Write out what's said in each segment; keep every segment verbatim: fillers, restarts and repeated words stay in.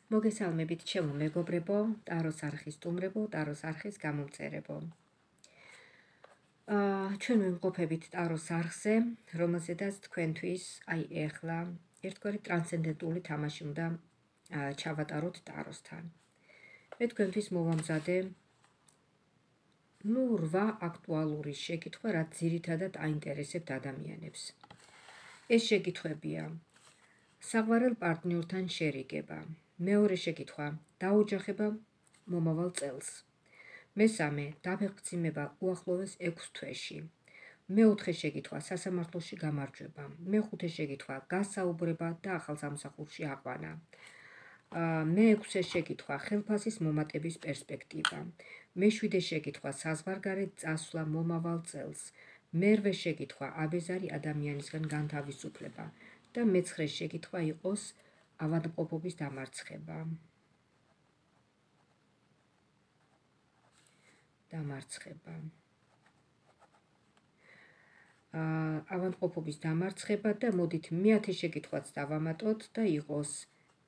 მოგესალმებით ჩემო მეგობრებო, ტაროს არხის სტუმრებო, ტაროს არხის გამომწერებო. აა ჩვენ ვიმყოფებით ტაროს არხზე, რომელზედაც თქვენთვის აი ეხლა ერთგვარი ტრანსცენდენტული თამაში უნდა ჩავატაროთ ტაროსთან. მე თქვენთვის მოვამზადე ნუ რვა აქტუალური შეკითხვა, რაც ძირითადად აინტერესებთ ადამიანებს. ეს შეკითხვებია: საყვარელ პარტნიორთან შერიგება. მეორე შეკითხვა: დაოჯახება მომავალ წელს. მესამე: დაფეხმძიმება უახლოეს ექვს თვეში. მეოთხე შეკითხვა: სასამართლოში გამარჯვება. მეხუთე შეკითხვა: გასაუბრება და ახალ სამსახურში აყვანა. მეექვსე შეკითხვა: ხელფასის მომატების პერსპექტივა. მეშვიდე შეკითხვა: საზღვარგარეთ წასვლა მომავალ წელს. მერვე შეკითხვა: აბეზარი ადამიანისგან განთავისუფლება და მეცხრე შეკითხვა იყოს ავადმყოფობის დამარცხება. დამარცხება. ავადმყოფობის დამარცხება და მოდით მეათე შეკითხვაც დავამატოთ და იყოს: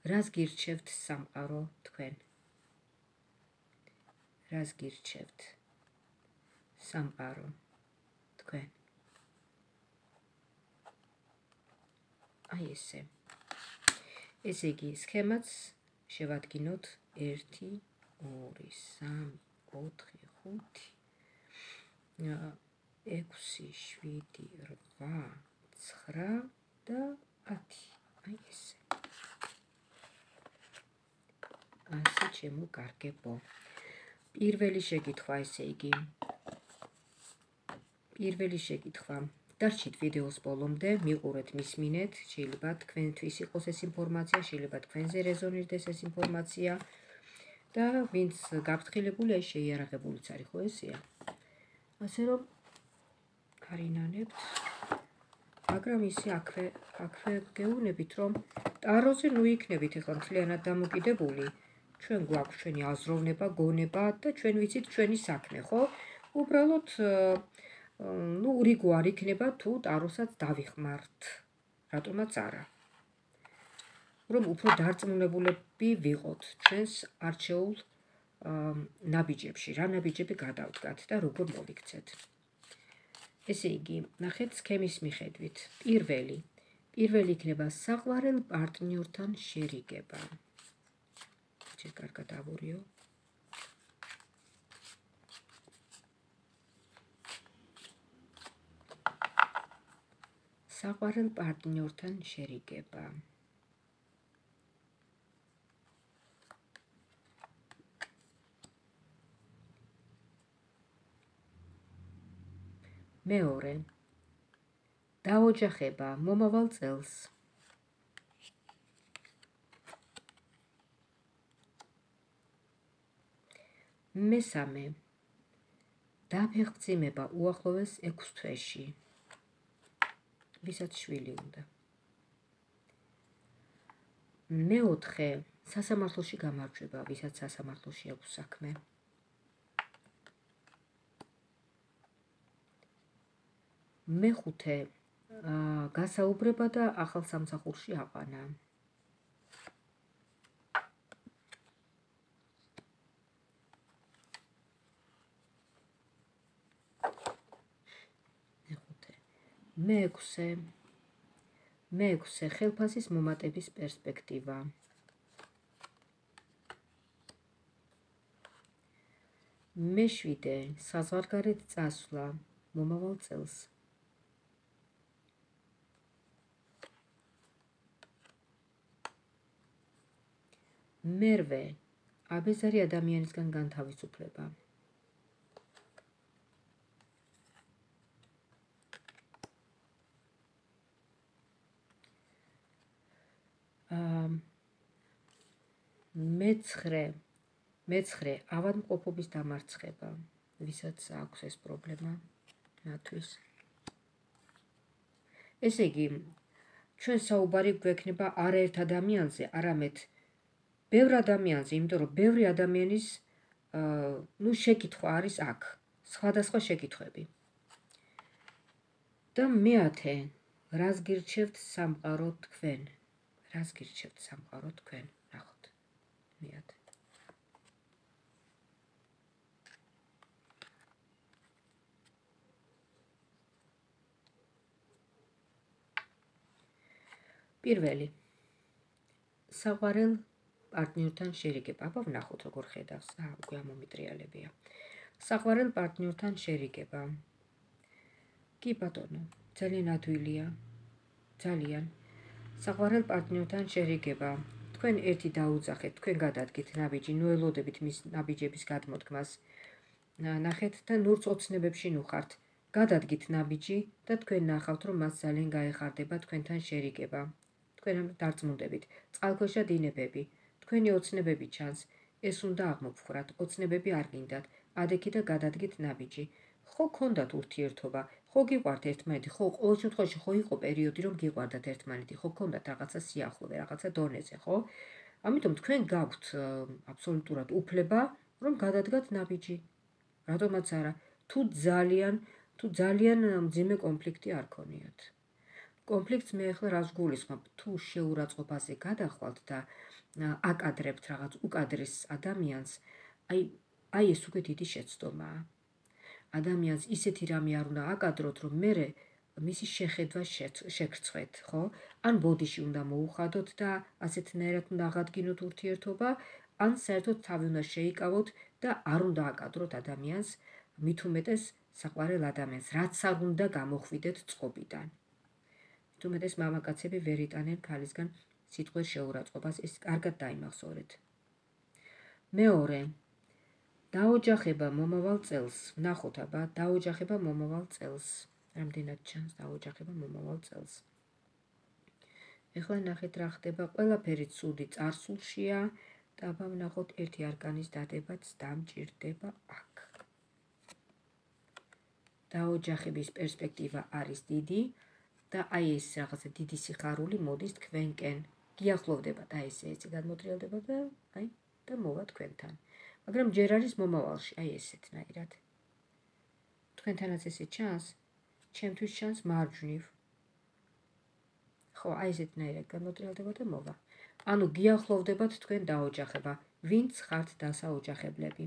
რას გირჩევთ სამყარო თქვენ? რას გირჩევთ სამყარო თქვენ? აი ესე. ესე იგი, სქემაც შევადგინოთ ერთი, ორი, სამი, ოთხი, ხუთი, ექვსი, შვიდი, რვა, ცხრა და ათი. აი ესე. ასე ჩემო კარგებო. პირველი შეკითხვა, ესე იგი. პირველი შეკითხვა. დარჩით ვიდეოს ბოლომდე, მიყურეთ, მისმინეთ, შეიძლება თქვენთვის იყოს ეს ინფორმაცია, შეიძლება თქვენზე რეზონირდეს ეს ინფორმაცია და ვინც გაფრთხილებულია, შეიარაღებულიც არის, ხო ესეა? ასე რომ არინანებთ, მაგრამ ისე აქვე აქვე გეუბნებით, რომ ტაროზე ნუ იქნებით ახლა მთლიანად დამოკიდებული, ჩვენ გვაქვს ჩვენი აზროვნება, გონება და ჩვენ ვიცით ჩვენი საქმე, ხო? უბრალოდ ნუ რიგო არ იქნება თუ ტაროსაც დავიხმართ, რატომაც არა. რომ უფრო დარწმუნებულები ვიყოთ ჩვენს არჩეულ ნაბიჯებში, რა ნაბიჯები გადავდგათ და როგორ მოვიქცეთ. ესე იგი, ნახეთ სქემის მიხედვით. პირველი, პირველი იქნება საყვარელ პარტნიორთან შერიგება. ჯერ კარგად ავურიო. საყვარელ პარტნიორთან შერიგება. მეორე, დაოჯახება მომავალ წელს. მესამე, დაფეხმძიმება უახლოეს ექვს თვეში. ვისაც შვილი უნდა. მეოთხე, სასამართლოში გამარჯვება, ვისაც სასამართლოში აქვს საქმე. მეხუთე, გასაუბრება და ახალ სამსახურში აყვანა. მეექვსე, მეექვსე, ხელფასის მომატების პერსპექტივა. მეშვიდე, საზღვარგარეთ წასვლა მომავალ წელს. მერვე, აბეზარი ადამიანისგან განთავისუფლება. მეცხრე, მეცხრე, ავადმყოფობის დამარცხება, ვისაც აქვს ეს პრობლემა, მათთვის. ესე იგი, ჩვენ საუბარი გვექნება არაერთ ადამიანზე, არამედ ბევრ ადამიანზე, იმიტომ რომ ბევრი ადამიანის ნუ შეკითხვა არის აქ, სხვადასხვა შეკითხვები. და მეათე, რას გირჩევთ სამყარო თქვენ? რას გირჩევთ სამყარო თქვენ? ნახოთ. მეათ. პირველი. საყვარელ პარტნიორთან შერიგება. აბა ვნახოთ როგორ ხედავს. აა, უკვე ამომიტრიალებია. საყვარელ პარტნიორთან შერიგება. კი ბატონო, ძალიან ადვილია. ძალიან. საყვარელ პარტნიორთან შერიგება. თქვენ ერთი დაუძახეთ, თქვენ გადადგით ნაბიჯი, ნუ ელოდებით მის ნაბიჯების გადმოდგმას. ნახეთ და ნურც ოცნებებში ნუ ხართ. გადადგით ნაბიჯი და თქვენ ნახავთ, რომ მას ძალიან გაეხარდება თქვენთან შერიგება. თქვენ დარწმუნდებით. წყალქვეშა დინებები. თქვენი ოცნებები ჩანს. ეს უნდა აღმოფხვრათ. ოცნებები არ გინდათ. ადექი და გადადგით ნაბიჯი. ხო გქონდათ ურთიერთობა. ხო გიყვართ ერთმანეთი. ხო ყოველ შემთხვევაში ხო იყო პერიოდი, რომ გიყვარდათ ერთმანეთი. ხო გქონდათ რაღაცა სიახლოვე, რაღაცა დონეზე, ხო? ამიტომ თქვენ გაქვთ აბსოლუტურად უფლება, რომ გადადგათ ნაბიჯი. რატომაც არა? თუ ძალიან, თუ ძალიან მძიმე კონფლიქტი არ ქონიათ. კონფლიქტს მე ახლა რას გულისხმობ? თუ შეურაცხყოფაზე გადახვალთ და აკადრებთ რაღაც უკადრის ადამიანს, აი აი ეს უკვე დიდი შეცდომაა. ადამიანს ისეთი რამე არ უნდა აკადროთ, რომ მერე მისი შეხედვა შეგრცხვეთ, ხო? ან ბოდიში უნდა მოუხადოთ და ასეთნაირად უნდა აღადგინოთ ურთიერთობა, ან საერთოდ თავი უნდა შეიკავოთ და არ უნდა აკადროთ ადამიანს, მით უმეტეს საყვარელ ადამიანს, რაც არ უნდა გამოხვიდეთ წყობიდან. მით უმეტეს მამაკაცები ვერ იტანენ ქალისგან სიტყვერ შეურაცხყოფას, ეს კარგად დაიმახსოვრეთ. მეორე, დაოჯახება მომავალ წელს. ვნახოთ აბა, დაოჯახება მომავალ წელს. რამდენად ჩანს დაოჯახება მომავალ წელს. ეხლა ნახეთ რა ხდება, ყველაფერი ცუდი წარსულშია და აბა ვნახოთ ერთი არკანის დადებაც დამჭირდება აქ. დაოჯახების პერსპექტივა არის დიდი და აი ეს რაღაცა დიდი სიხარული მოდის თქვენკენ. გიახლოვდებათ, აი ესე έτσι გადმოტრიალდება და აი და მოვა თქვენთან. მაგრამ ჯერ არის მომავალში, აი ესეთნაირად. თქვენთანაც ესე ჩანს? ჩემთვის ჩანს მარჯვნივ. ხო, აი ესეთნაირად გადმოტრიალდება და მოვა. ანუ გიახლოვდებათ თქვენ დაოჯახება, ვინც ხართ დასაოჯახებლები.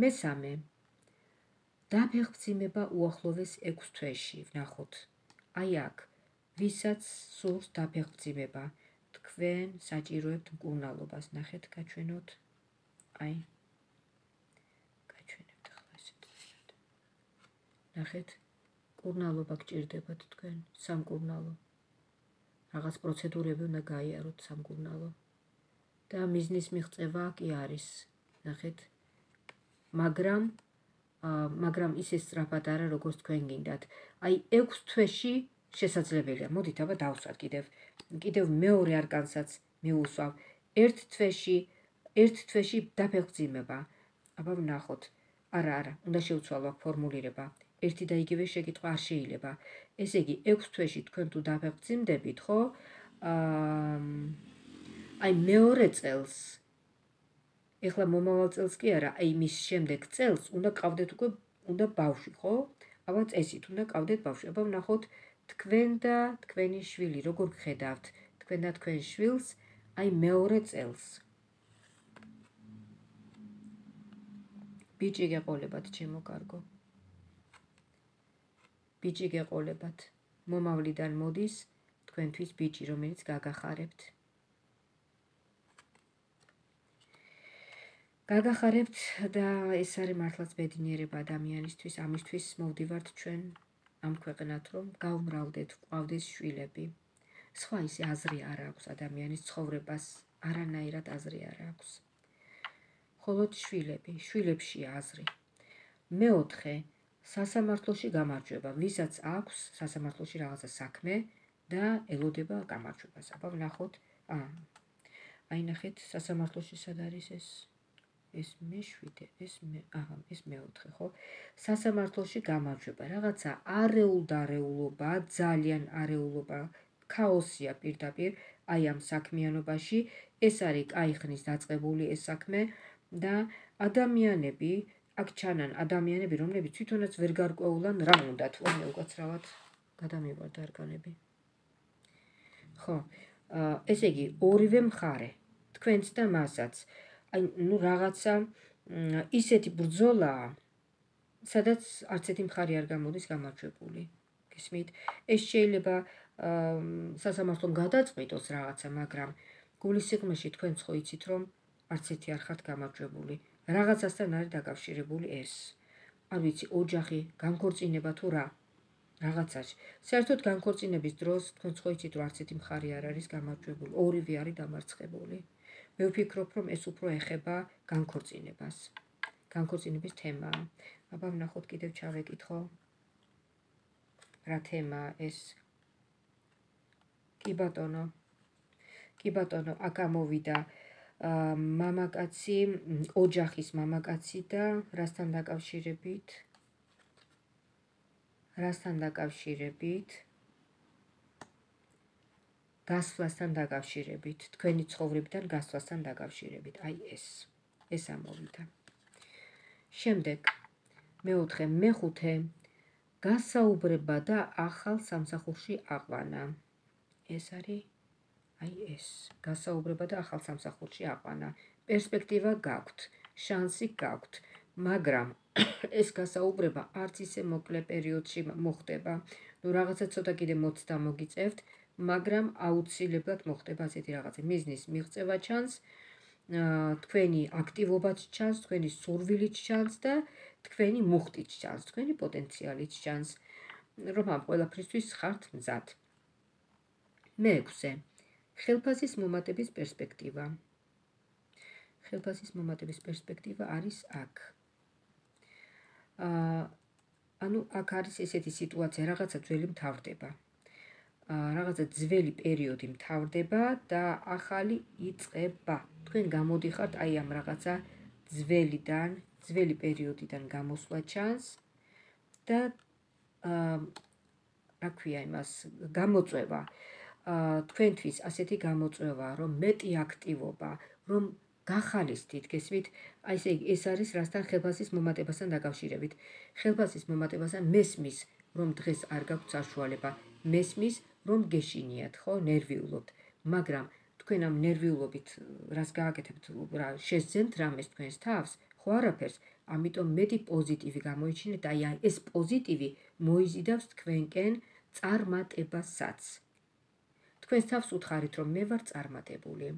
მესამე, დაფეხმძიმება უახლოვეს ექვს თვეში, ვნახოთ. აი აქ, ვისაც სურს დაფეხმძიმება, თქვენ საჭიროებთ მკურნალობას, ნახეთ, გაჩვენოთ. აი გაჩვენებთ ახლა ესეთნაირად. ნახეთ, მკურნალობა გჭირდებათ თქვენ, სამკურნალო. რაღაც პროცედურები უნდა გაიაროთ სამკურნალო. და მიზნის მიღწევა კი არის, ნახეთ. მაგრამ მაგრამ ისე სწრაფად არა, როგორც თქვენ გინდათ. აი ექვს თვეში შესაძლებელია. მოდით აბა დავსვათ კიდევ. კიდევ მეორე არკანსაც მივუსვავ. ერთ თვეში, ერთ თვეში დაფეხმძიმება. აბა ვნახოთ. არა, არა, უნდა შევცვალო აქ ფორმულირება. ერთი და იგივე შეკითხვა არ შეიძლება. ესე იგი, ექვს თვეში თქვენ თუ დაფეხმძიმდებით, ხო? აი მეორე წელს, ეხლა მომავალ წელს კი არა, აი მის შემდეგ წელს უნდა ყავდეთ უკვე უნდა ბავშვი, ხო? აბა წესით უნდა ყავდეთ ბავშვი. აბა ვნახოთ თქვენ და თქვენი შვილი, როგორ გხედავთ თქვენ და თქვენ შვილს, აი მეორე წელს. ბიჭი გეყოლებათ, ჩემო კარგო. ბიჭი გეყოლებათ. მომავლიდან მოდის თქვენთვის ბიჭი, რომელიც გაგახარებთ. გაგახარებთ და ეს არის მართლაც ბედნიერება ადამიანისთვის, ამისთვის მოვდივართ ჩვენ ამ ქვეყნად, რომ გავმრავლდეთ, გვყავდეს შვილები. სხვა ისე აზრი არ აქვს ადამიანის ცხოვრებას, არანაირად აზრი არ აქვს. მხოლოდ შვილები, შვილებშია აზრი. მეოთხე, სასამართლოში გამარჯვება, ვისაც აქვს სასამართლოში რაღაცა საქმე და ელოდება გამარჯვებას. აბა ვნახოთ, აა აი ნახეთ, სასამართლოში სად არის ეს? ეს მეშვიდე, ეს მე, აჰა, ეს მეოთხე, ხო? სასამართლოში გამარჯვება, რაღაცა არეულ-დარეულობა, ძალიან არეულობა, ქაოსია პირდაპირ აი ამ საქმიანობაში, ეს არის კაი ხნის დაწყებული ეს საქმე და ადამიანები, აქ ჩანან ადამიანები, რომლებიც თვითონაც ვერ გარკვეულან რა უნდათ, ომე უკაცრავად გადამივარდა არკანები. ხო, ესე იგი, ორივე მხარე თქვენც და მასაც. აი, ნუ რაღაცა ისეთი ბრძოლაა, სადაც არც ერთი მხარე არ გამოდის გამარჯვებული. გესმით? ეს შეიძლება სასამართლომ გადაწყვიტოს რაღაცა, მაგრამ გულის სიღრმეში თქვენც ხო იცით, რომ არც ერთი არ ხართ გამარჯვებული. რაღაცასთან არის დაკავშირებული ეს. არ ვიცი, ოჯახი, განქორწინება თუ რა. რაღაცაში. საერთოდ განქორწინების დროს თქვენც ხო იცით, რომ არც ერთი მხარე არ არის გამარჯვებული, ორივე არის დამარცხებული. მე ვფიქრობ, რომ ეს უფრო ეხება განქორწინებას. განქორწინების თემაა. აბა ვნახოთ კიდევ ჩავეკითხო. რა თემაა ეს? კი ბატონო. კი ბატონო, აქ ამოვიდა მამაკაცი, ოჯახის მამაკაცი და რასთან დაკავშირებით? რასთან დაკავშირებით? გასვლასთან დაკავშირებით, თქვენი ცხოვრებიდან გასვლასთან დაკავშირებით. აი ეს. ეს ამოვიდა. შემდეგ მეოთხე, მეხუთე, გასაუბრება და ახალ სამსახურში აყვანა. ეს არის აი ეს. გასაუბრება და ახალ სამსახურში აყვანა. პერსპექტივა გაქვთ, შანსი გაქვთ, მაგრამ ეს გასაუბრება არც ისე მოკლე პერიოდში მოხდება. ნუ რაღაცა ცოტა კიდე მოცდა მოგიწევთ, მაგრამ აუცილებლად მოხდება ასეთი რაღაცა. მიზნის მიღწევა ჩანს, თქვენი აქტივობაც ჩანს, თქვენი სურვილიც ჩანს და თქვენი მუხტიც ჩანს, თქვენი პოტენციალიც ჩანს, რომ ამ ყველაფრისთვის ხართ მზად. მეექვსე, ხელფასის მომატების პერსპექტივა. ხელფასის მომატების პერსპექტივა არის აქ. ანუ აქ არის ესეთი სიტუაცია, რაღაცა ძველი მთავრდება. რაღაცა ძველი პერიოდი მთავრდება და ახალი იწყება. თქვენ გამოდიხართ აი ამ რაღაცა ძველიდან, ძველი პერიოდიდან გამოსვლა ჩანს და რა ქვია იმას, გამოწვევა. თქვენთვის ასეთი გამოწვევა, რომ მეტი აქტივობა, რომ გახალისდით, გესმით? აი ესე ეს არის რასთან ხელფასის მომატებასთან დაკავშირებით. ხელფასის მომატებასთან მესმის, რომ დღეს არ გაქვთ საშუალება, მესმის, რომ გეშინიათ, ხო, ნერვიულობთ, მაგრამ თქვენ ამ ნერვიულობით რას გააკეთებთ, რა შეძენთ რამეს თქვენს თავს, ხო არაფერს, ამიტომ მეტი პოზიტივი გამოიჩინეთ, აი ეს პოზიტივი მოიზიდავს თქვენკენ წარმატებასაც. თქვენს თავს უთხარით, რომ მე ვარ წარმატებული.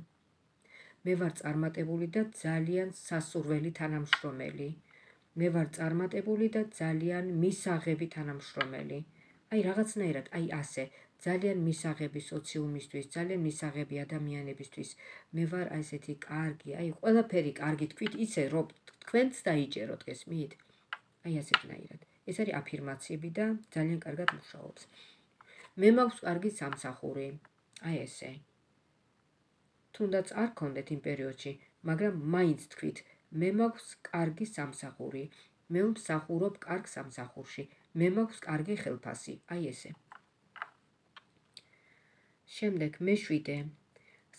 მე ვარ წარმატებული და ძალიან სასურველი თანამშრომელი. მე ვარ წარმატებული და ძალიან მისაღები თანამშრომელი. აი რაღაცნაირად, აი ასე, ძალიან მისაღები სოციუმისთვის, ძალიან მისაღები ადამიანებისთვის. მე ვარ აი ესეთი კარგი, აი ყველაფერი კარგი თქვით, ისე რომ თქვენც დაიჭეროთ, გესმით? აი ასეთნაირად. ეს არის აფირმაციები და ძალიან კარგად მუშაობს. მე მაქვს კარგი სამსახური. აი ესე. თუნდაც არ გქონდეთ იმ პერიოდში, მაგრამ მაინც თქვით, მე მაქვს კარგი სამსახური. მე ვმსახურობ კარგ სამსახურში. მე მაქვს კარგი ხელფასი. აი ესე. შემდეგ მეშვიდე.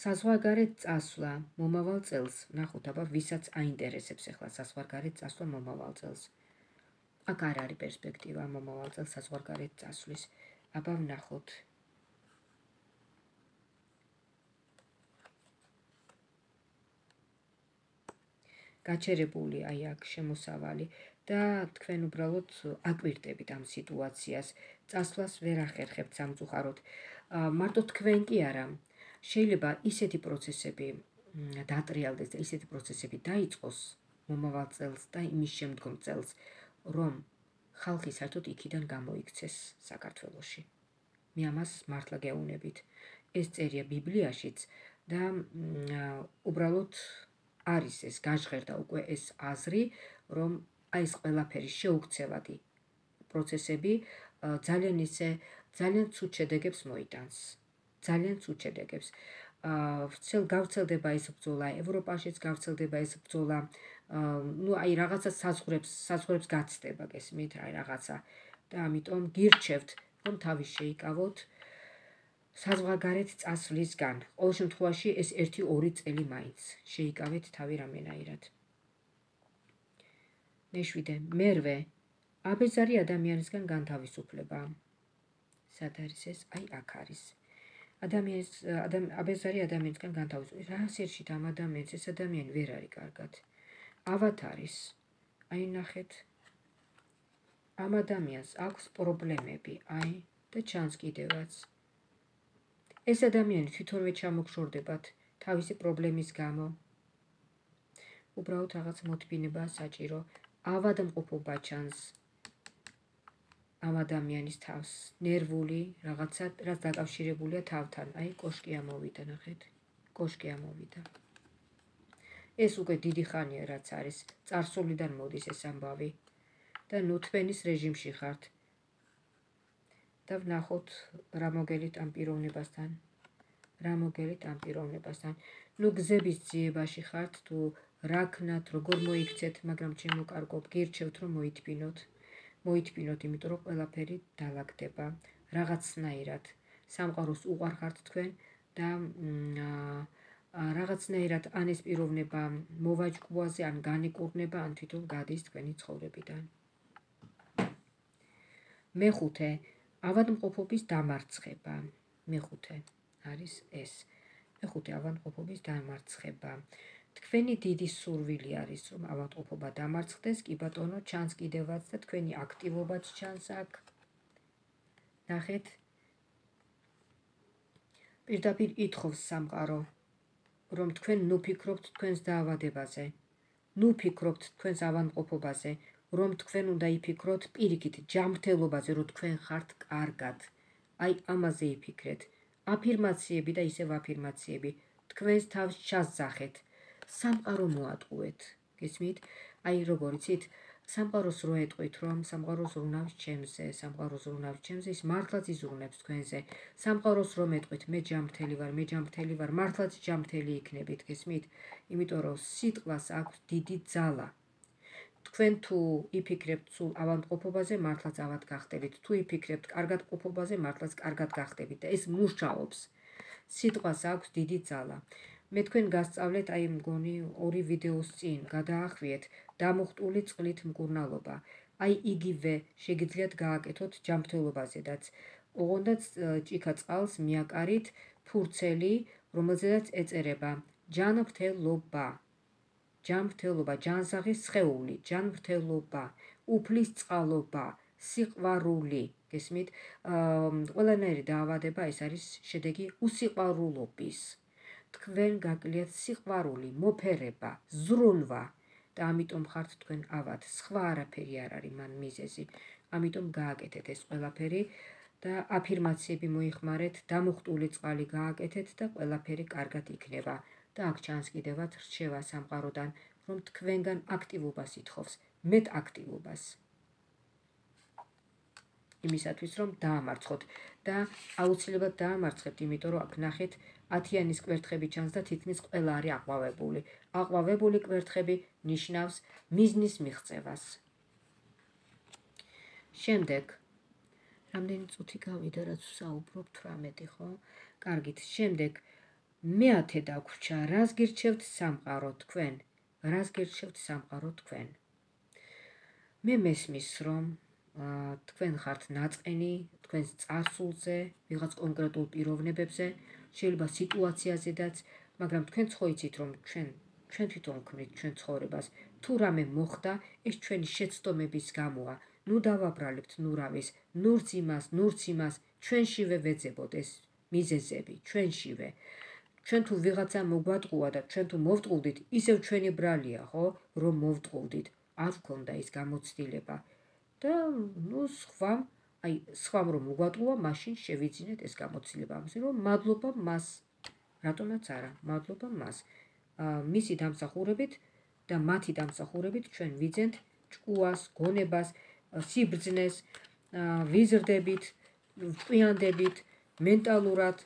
საზღვარგარეთ წასვლა მომავალ წელს. ნახოთ, აბა ვისაც აინტერესებს ახლა საზღვარგარეთ წასვლა მომავალ წელს. აქ არ არის პერსპექტივა მომავალ წელს საზღვარგარეთ წასვლის. აბა ვნახოთ. გაჩერებული აი აქ შემოსავალი და თქვენ უბრალოდ აკვირდებით ამ სიტუაციას. წასვლას ვერ ახერხებთ სამწუხაროდ. მარტო თქვენ კი არა. შეიძლება ისეთი პროცესები დატრიალდეს და ისეთი პროცესები დაიწყოს მომავალ წელს და იმის შემდგომ წელს, რომ ხალხი საერთოდ იქიდან გამოიქცეს საქართველოში. მე ამას მართლა გეუბნებით. ეს წერია ბიბლიაშიც და უბრალოდ არის ეს გაჟღერდა უკვე ეს აზრი, რომ აი ეს ყველაფერი შეუქცევადი პროცესები ძალიან ისე ძალიან ცუდ შედეგებს მოიტანს. ძალიან ცუდ შედეგებს. ვრცელ გავრცელდება ეს ბრძოლა, ევროპაშიც გავრცელდება ეს ბრძოლა. ნუ აი რაღაცა საზღვრებს, საზღვრებს გაცდება, გესმით, აი რაღაცა. და ამიტომ გირჩევთ, რომ თავი შეიკავოთ საზღვარგარეთ წასვლისგან. ყოველ შემთხვევაში ეს ერთი ორი წელი მაინც შეიკავეთ თავი რამენაირად. მეშვიდე, მერვე, აბეზარი ადამიანისგან განთავისუფლება. სად არის ეს? აი აქ არის. ადამიანის აბეზარი ადამიანისგან განთავისუფლება. რა სერშით ამ ადამიანს ეს ადამიანი ვერ არის კარგად. ავად არის. აი ნახეთ. ამ ადამიანს აქვს პრობლემები, აი და ჩანს კიდევაც. ეს ადამიანი თვითონვე ჩამოგშორდებათ თავისი პრობლემის გამო. უბრალოდ რაღაც მოთმინება საჭირო. ავადმყოფობა ჩანს ამ ადამიანის თავს, ნერვული რაღაცა, რაც დაკავშირებულია თავთან. აი კოშკი ამოვიდა, ნახეთ. კოშკი ამოვიდა. ეს უკვე დიდი ხანია რაც არის, წარსულიდან მოდის ეს ამბავი. და ნუ თქვენის რეჟიმში ხართ. და ვნახოთ რა მოგელით ამ პიროვნებასთან. რა მოგელით ამ პიროვნებასთან. ნუ გზების ძიებაში ხართ თუ რა ქნათ, როგორ მოიქცეთ, მაგრამ ჩემო კარგო, გირჩევთ რომ მოითბინოთ. მოითბინოთ, იმიტომ რომ ყველაფერი დაალაგდება. რაღაცნაირად სამყაროს უყვარ ხართ თქვენ და რაღაცნაირად ან ეს პიროვნება მოვაჯკუაზე, ან განიკურნება, ან თვითონ გადის თქვენი ცხოვრებიდან. მეხუთე, ავადმყოფობის დამარცხება. მეხუთე არის ეს. მეხუთე ავადმყოფობის დამარცხება. თქვენი დიდი სურვილი არის, რომ ავადმყოფობა დამარცხდეს, კი ბატონო, ჩანს კიდევაც და თქვენი აქტივობაც ჩანს აქ. ნახეთ. პირდაპირ ითხოვს სამყარო, რომ თქვენ ნუ ფიქრობთ თქვენს დაავადებაზე, ნუ ფიქრობთ თქვენს ავადმყოფობაზე, რომ თქვენ უნდა იფიქროთ პირიქით ჯანმრთელობაზე, რომ თქვენ ხართ კარგად. აი ამაზე იფიქრეთ. აფირმაციები და ისევ აფირმაციები. თქვენს თავს ჩასძახეთ. სამყარო მოატყუეთ. გესმით? აი როგორ იცით? სამყაროს რო ეტყვით, რომ სამყაროს ზრუნავს ჩემზე, სამყაროს ზრუნავს ჩემზე, ის მართლაც იზრუნებს თქვენზე. სამყაროს რომ ეტყვით, მე ჯანმრთელი ვარ, მე ჯანმრთელი ვარ, მართლაც ჯანმრთელი იქნებით, გესმით? იმიტომ რომ სიტყვას აქვს დიდი ძალა. თქვენ თუ იფიქრებთ სულ ავადმყოფობაზე, მართლაც ავად გახდებით. თუ იფიქრებთ კარგად ყოფობაზე, მართლაც კარგად გახდებით და ეს მუშაობს. სიტყვას აქვს დიდი ძალა. მე თქვენ გასწავლეთ, აი მგონი ორი ვიდეოს წინ გადაახვიეთ დამუხტული წყლით მკურნალობა. აი იგივე შეგიძლიათ გააკეთოთ ჯანმრთელობაზედაც. ოღონდაც ჭიქა წყალს მიაკარით ფურცელი, რომელზედაც ეწერება ჯანმრთელობა. ჯანმრთელობა, ჯანსაღის სხეული, ჯანმრთელობა, უფლის წყალობა, სიყვარული. გესმით? ყველანაირი დაავადება ეს არის შედეგი უსიყვარულობის. თქვენ გაკლიათ სიყვარული, მოფერება, ზრუნვა და ამიტომ ხართ თქვენ ავად. სხვა არაფერი არ არის მან მიზეზი. ამიტომ გააკეთეთ ეს ყველაფერი და აფირმაციები მოიხმარეთ, დამუხტული წყალი გააკეთეთ და ყველაფერი კარგად იქნება. და აქ ჩანს კიდევაც რჩევა სამყაროდან, რომ თქვენგან აქტივობას ითხოვს, მეტ აქტივობას. იმისათვის რომ დაამარცხოთ და აუცილებლად დაამარცხებთ, იმიტომ რომ აქ ნახეთ ათიანის კვერთხები ჩანს და თითქმის ყველა არის აყვავებული. აყვავებული კვერთხები ნიშნავს მიზნის მიღწევას. შემდეგ რამდენი წუთი გავიდა, რაც ვსაუბრობ, თვრამეტი, ხო? კარგით, შემდეგ მეათე დაგვრჩა, რას გირჩევთ სამყარო თქვენ? რას გირჩევთ სამყარო თქვენ? მე მესმის, რომ თქვენ ხართ ნაწყენი, თქვენს წარსულზე, ვიღაც კონკრეტულ პიროვნებებზე, შეიძლება სიტუაციაზედაც, მაგრამ თქვენც ხო იცით, რომ ჩვენ ჩვენ თვითონ ვქმნით ჩვენ ცხოვრებას. თუ რამე მოხდა, ეს ჩვენი შეცდომების გამოა. ნუ დავაბრალებთ ნურავის, ნურც იმას, ნურც იმას, ჩვენშივე ვეძებოთ ეს მიზეზები, ჩვენშივე. ჩვენ თუ ვიღაცა მოგვატყუა და ჩვენ თუ მოვტყუდით, ისევ ჩვენი ბრალია, ხო, რომ მოვტყუდით. არ ვქონდა ის გამოცდილება. და ნუ სხვა, აი სხვამ რომ მოგვატყუა, მაშინ შევიძინეთ ეს გამოცდილება. ამაზე რომ მადლობა მას, რატომაც არა, მადლობა მას. მისი დამსახურებით და მათი დამსახურებით ჩვენ ვიძენთ ჭკუას, გონებას, სიბრძნეს, ვიზრდებით, ვჭკვიანდებით, მენტალურად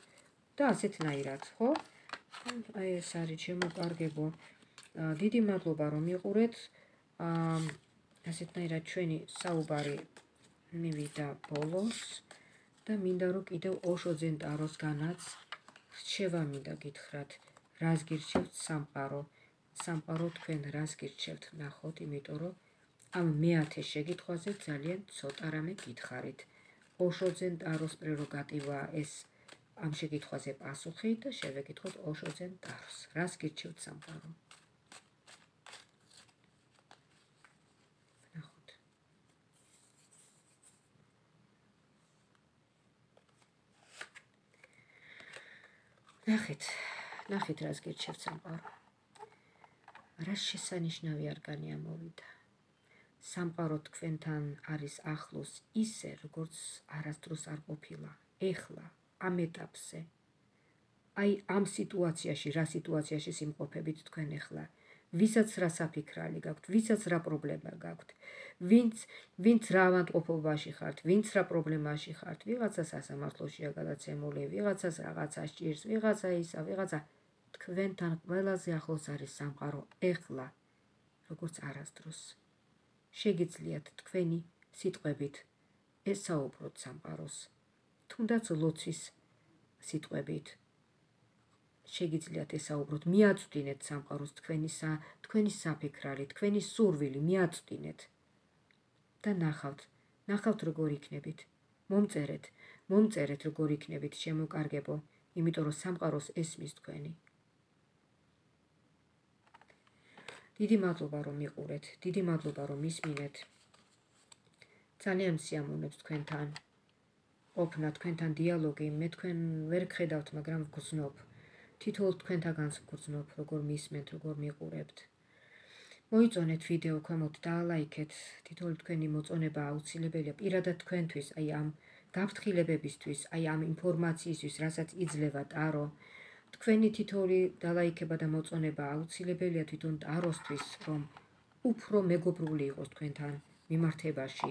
და ასეთნაირად, ხო? აი ეს არის ჩემო კარგებო. დიდი მადლობა რომ იყურეთ. ასეთნაირად ჩვენი საუბარი მივიდა ბოლოს და მინდა რომ კიდევ ოშოძენ ტაროსგანაც რჩევა მინდა გითხრათ, რას გირჩევთ სამყარო? სამყარო თქვენ რას გირჩევთ? ნახოთ, იმიტომ რომ ამ მეათე შეკითხვაზე ძალიან ცოტა რამე გითხარით. ოშოძენ ტაროს პრეროგატივაა ეს ამ შეკითხვაზე პასუხი და შევეკითხოთ ოშოძენ ტაროს. რას გირჩევთ სამყარო? ნახოთ. ნახეთ, ნახეთ რას გირჩევთ სამყარო. რა შესანიშნავი არგანი ამოვიდა. სამყარო თქვენთან არის ახლოს ისე, როგორც არასდროს არ ყოფილა. ეხლა ამ ეტაპზე. აი ამ სიტუაციაში, რა სიტუაციაში სიმყოფებით თქვენ ეხლა. ვისაც რა საფიქრალი გაქვთ, ვისაც რა პრობლემა გაქვთ, ვინც ვინც რა ავადმყოფობაში ხართ, ვინც რა პრობლემაში ხართ, ვიღაცა სასამართლოშია გადაცემული, ვიღაცას რაღაცა სჭირს, ვიღაცა ისა, ვიღაცა თქვენთან ყველაზე ახლოს არის სამყარო ეხლა, როგორც არასდროს. შეგიძლიათ თქვენი სიტყვებით ესაუბროთ სამყაროს, თუნდაც ლოცვის სიტყვებით. შეგიძლიათ ესაუბროთ, მიაწვდინეთ სამყაროს თქვენი თქვენი საფიქრალი, თქვენი სურვილი, მიაწვდინეთ და ნახავთ, ნახავთ როგორ იქნებით. მომწერეთ, მომწერეთ როგორ იქნებით შემოკარგებო, იმიტომ რომ სამყაროს ესმის თქვენი. დიდი მადლობა რომ მიყურეთ, დიდი მადლობა რომ მისმინეთ. ძალიან სიამოვნებს თქვენთან ყოფნა, თქვენთან დიალოგი, მე თქვენ ვერ გხედავთ, მაგრამ ვგრძნობ. თითოეულ თქვენთაგანს ვგრძნობ, როგორ მისმენთ, როგორ მიყურებთ. მოიწონეთ ვიდეო ქვემოთ და ლაიქეთ. თითოეული თქვენი მოწონება აუცილებელია პირადად თქვენთვის, აი ამ გაფრთხილებებისთვის, აი ამ ინფორმაციისთვის, რასაც იძლევა ტარო. თქვენი თითოეული დალაიქება და მოწონება აუცილებელია თვითონ ტაროსთვის, რომ უფრო მეგობრული იყოს თქვენთან მიმართებაში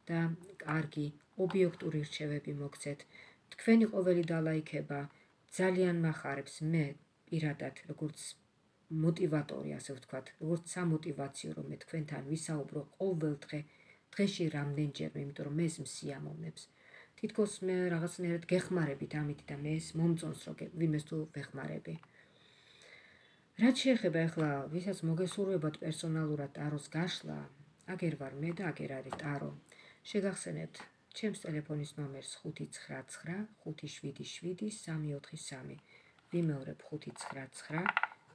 და კარგი ობიექტური რჩევები მოგცეთ. თქვენი ყოველი დალაიქება ძალიან მახარებს მე პირადად, როგორც მოტივატორი, ასე ვთქვათ, როგორც სამოტივაციო, რომ მე თქვენთან ვისაუბრო ყოველ დღე, დღეში რამდენჯერმე, იმიტომ რომ მე ეს მსიამოვნებს. თითქოს მე რაღაცნაირად გეხმარებით ამით და მე ეს მომწონს, რომ ვინმეს თუ ვეხმარები. რაც შეეხება ახლა, ვისაც მოგესურვებათ პერსონალურად ტაროს გაშლა, აგერ ვარ მე და აგერ არის ტარო. შეგახსენებთ ჩემს ტელეფონის ნომერს ხუთი ცხრა ცხრა ხუთი შვიდი შვიდი სამი ოთხი სამი. ვიმეორებ ხუთი ცხრა ცხრა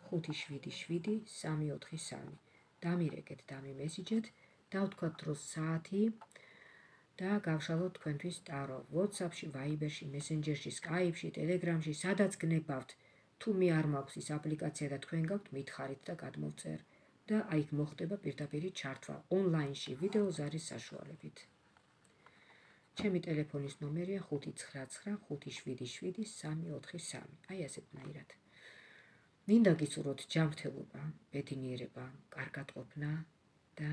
ხუთი შვიდი შვიდი სამი ოთხი სამი. დამირეკეთ, დამიმესიჯეთ, დავთქვათ დროს საათი და გავშალოთ თქვენთვის ტარო. WhatsApp-ში, Viber-ში, Messenger-ში, Skype-ში, Telegram-ში, სადაც გნებავთ. თუ მე არ მაქვს ის აპლიკაცია და თქვენ გაქვთ, მითხარით და გადმოვწერ. და აი მოხდება პირდაპირი ჩართვა ონლაინში ვიდეო ზარის საშუალებით. ჩემი ტელეფონის ნომერია ხუთი ცხრა ცხრა ხუთი შვიდი შვიდი სამი ოთხი სამი. აი ასეთნაირად. მინდა გისურვოთ ჯანმრთელობა, ბედნიერება, კარგად ყოფნა და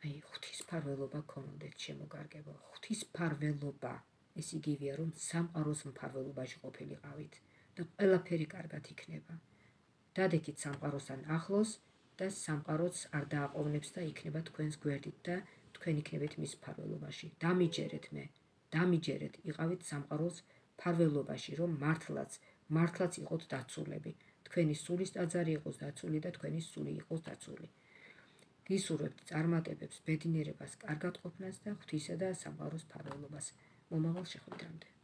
აი ღვთისმფარველობა გქონოდეთ შემოგარგებო. ღვთისმფარველობა, ეს იგივეა რომ სამყაროს მფარველობაში ყოფილიყავით და ყველაფერი კარგად იქნება. დადექით სამყაროსთან ახლოს და სამყაროც არ დააყოვნებს და იქნება თქვენს გვერდით და თქვენ იქნებით მის მფარველობაში. დამიჯერეთ მე, დამიჯერეთ, იყავით სამყაროს მფარველობაში, რომ მართლაც, მართლაც იყოთ დაცულები. თქვენი სულის ტაძარი იყოს დაცული და თქვენი სული იყოს დაცული. გისურვებთ წარმატებებს, ბედნიერებას, კარგად ყოფნას და ღვთისა და სამყაროს მფარველობას. მომავალ შეხვედრამდე.